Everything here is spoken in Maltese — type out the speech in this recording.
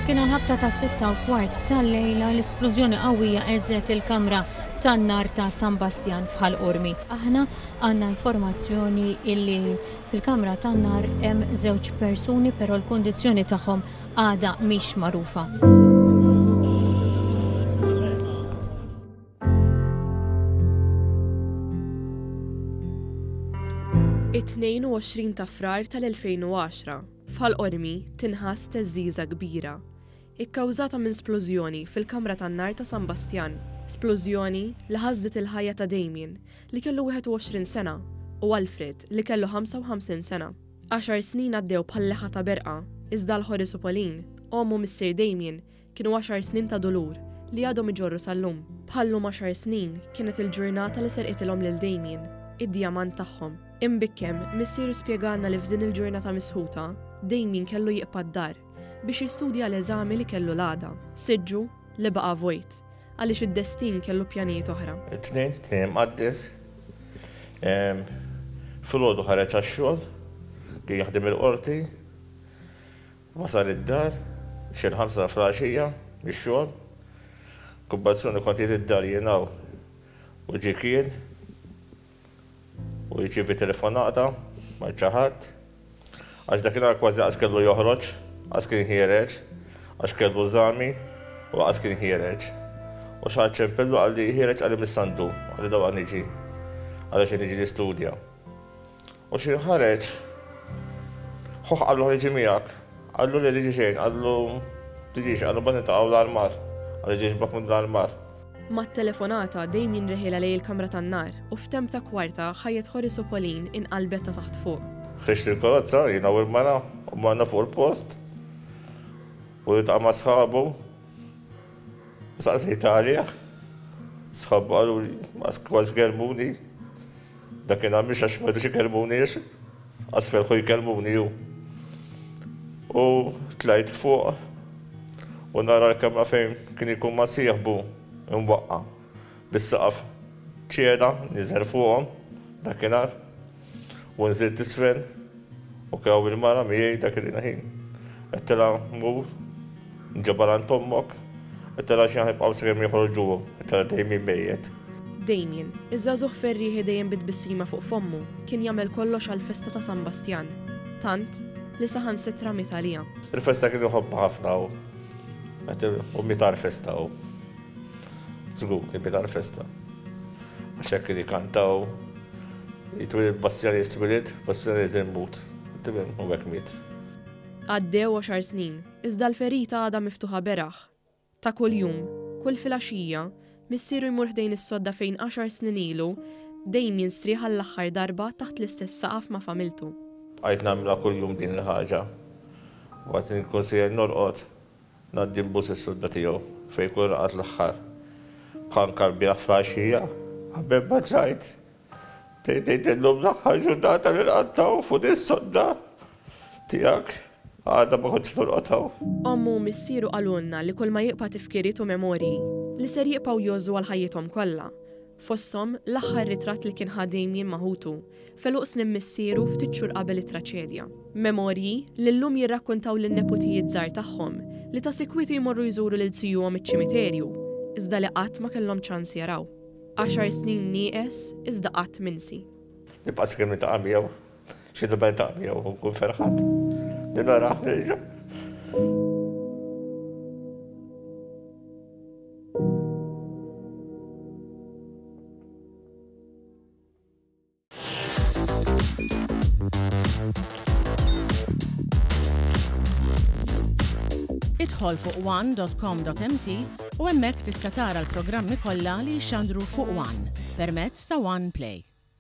Kien għal-ħabta ta' 6:15 tal-lejla l-isplużjoni qawwija għeżżet il-kamra tan-nar ta' San Bastjan f'Ħal Qormi. Aħna għandna informazzjoni illi fil-kamra tan-nar hemm żewġ persuni però l-kundizzjoni tagħhom għadha mhix magħrufa. It-22 ta' Frar tal-2010, f'Ħal Qormi tinħass theżżiża kbira, ikkawżata minn splużjoni fil-kamra tan-nar ta' San Bastjan. Splużjoni li ħasdet il-ħajja ta' Damien, li kellu 21 sena, u Alfred, li kellu 55 sena. Għaxar snin għaddew bħal leħħa ta' berqa, iżda għal Horace u Pauline, omm u missier Damien, kienu għaxar snin ta' dulur li għadhom iġorru sal-lum. Bħal-lum għaxar snin kienet il-ġurnata li serqitilhom lil Damien, id-djamant tagħhom. Imbikkem, missieru spjegalna li f'din il-ġurnata misħuta, Damien kellu jibqa' d-dar biex jistudja għal eżami li kellu l-għada. Siġġu li baqa' vojt, għaliex id-destin kellu pjanijiet oħra. It-Tnejn, Tnejn Imqaddes, filgħodu ħareġ għax-xogħol, kien jaħdem il-qorti, Wasal id-dar xi l-ħamsa ta' filgħaxija mix-xogħol. Kumbazzjoni kont qiegħed id-dar jien hawn u ġie kien u jirċievi telefonata ma' xi ħadd. Għax dakinhar kważi qas kellu joħroġ, qas kien ħiereġ, għax kellu eżami u qas kien ħiereġ. U xi ħadd ċempillu qalli ħiereġ qalli mis-Sandu, qalli dawqa niġi għaliex qed niġi nistudja. U xi ħareġ, ħuh qallu ħa niġi miegħek. Qallu le tiġi xejn, qallu tiġix, qallu mbagħad niltaqgħu l-armar. Qallu ġie xbok minn l-armar. Mat-telefonata, Damien reħielha lejn il-kamra tan-nar u f'temp ta' kwarta ħajjet Horace u Pauline inqalbet ta' taħt fuq. Ħriġt il-karozza, jiena u l-mara, u morna fuq il-post u ltaqa' ma' sħabu. Saqsejt għalih, sħabu qaluli, kważi kellmuni. Dakinhar mhux għax ma jridux ikellmuni għax qas felħu jkellmuni hu. U tlajt fuq u nara l-kamra fejn kien ikun ma' sieħbu imwaqqa' bis-saqaf ċeda niżel fuqhom dakinhar u nżilt isfel u kien hawn il-mara miegħi dak il-ħin. Għedtilha mur Nġabar għand ommok, għedtilha xi ħanibqgħu sakemm joħorġuhom, għedtilha Damien mejjet. Damien, iż-żagħżugħ ferrieħi dejjem bi tbissima fuq fommu, kien jagħmel kollox għall-festa ta' San Bastjan, tant, li saħansitra miet għaliha. Il-festa kien iħobbha ħafna hu. U miet għall-festa hu. Żgur li miet għall-festa. Għax hekk kien ikanta hu. Jitwieled Bastjan jitwieled, Bastjan irid imut. Tifhem? U hekk miet. Għaddew għaxar snin, iżda l-ferita għadha miftuħa beraħ. Ta' kuljum, kull filgħaxija, missieru jmur ħdejn is-sodda fejn għaxar snin ilu, Damien strieħ għall-aħħar darba taħt l-istess saqaf ma' familtu. Bqajt nagħmilha kuljum din il-ħaġa. Waqt li nkun sejjer norqod, ngħaddi nbus is-sodda tiegħu fejn jkun raqad l-aħħar. Bħal anke lbieraħ filgħaxija, qabel ma tlajt, Tgħid illum l-aħħar ġurnata li nqattgħu fuq din is-sodda tiegħek, għada ma kontx norqod hawn. Ommu u missieru qalulna li kulma jibqa' tifkiriet u memorji li ser jibqgħu jgħożżu għal ħajjithom kollha. Fosthom, l-aħħar ritratt li kien ħa Damien ma' ħutu, f'għeluq snin missieru ftit xhur qabel it-traċedja. Memorji li llum jirrakkuntaw lin-neputijiet żgħar tagħhom li ta' sikwit jmorru jżuru lil zijuhom iċ-ċimiterju, iżda li qatt ma kellhom ċans jaraw. Għaxar snin nieqes iżda qatt minsi. Nibqa' sakemm niltaqa' miegħu. Xi darba niltaqa' miegħu u nkun ferħan li narah nerġa'. Idħol fuq one.com.mt u hemmhekk tista' tara l-programmi kollha li jixxandru fuq One permezz ta' One Play.